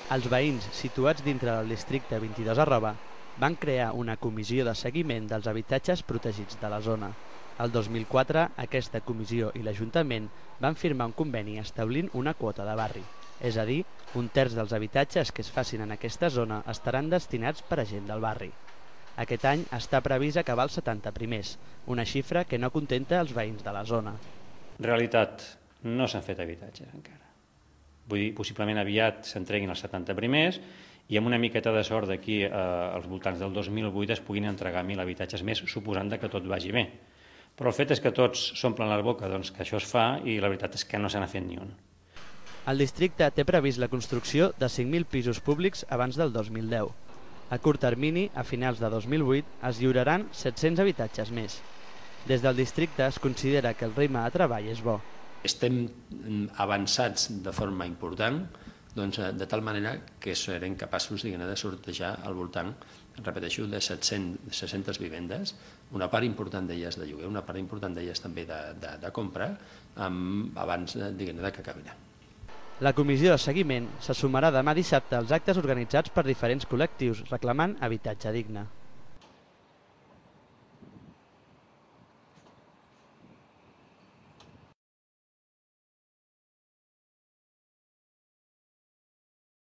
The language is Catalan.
Els veïns situats dintre del districte 22@ van crear una comissió de seguiment dels habitatges protegits de la zona. El 2004, aquesta comissió i l'Ajuntament van firmar un conveni establint una quota de barri, és a dir, un terç dels habitatges que es facin en aquesta zona estaran destinats per a gent del barri. Aquest any està previst acabar els 70 primers, una xifra que no contenta els veïns de la zona. Realitat, no s'han fet habitatges encara. Vull dir, possiblement aviat s'entreguin els 70 primers i amb una miqueta de sort d'aquí als voltants del 2008 es puguin entregar 1.000 habitatges més, suposant que tot vagi bé. Però el fet és que tots s'omplen la boca que això es fa i la veritat és que no se n'ha fet ni un. El districte té previst la construcció de 5.000 pisos públics abans del 2010. A curt termini, a finals de 2008, es lliuraran 700 habitatges més. Des del districte es considera que el ritme de treball és bo. Estem avançats de forma important, de tal manera que serem capaços de sortejar al voltant, repeteixo, de 600 vivendes, una part important d'elles de lloguer, una part important d'elles també de compra, abans que acabin. La comissió de seguiment se sumarà demà dissabte als actes organitzats per diferents col·lectius reclamant habitatge digne.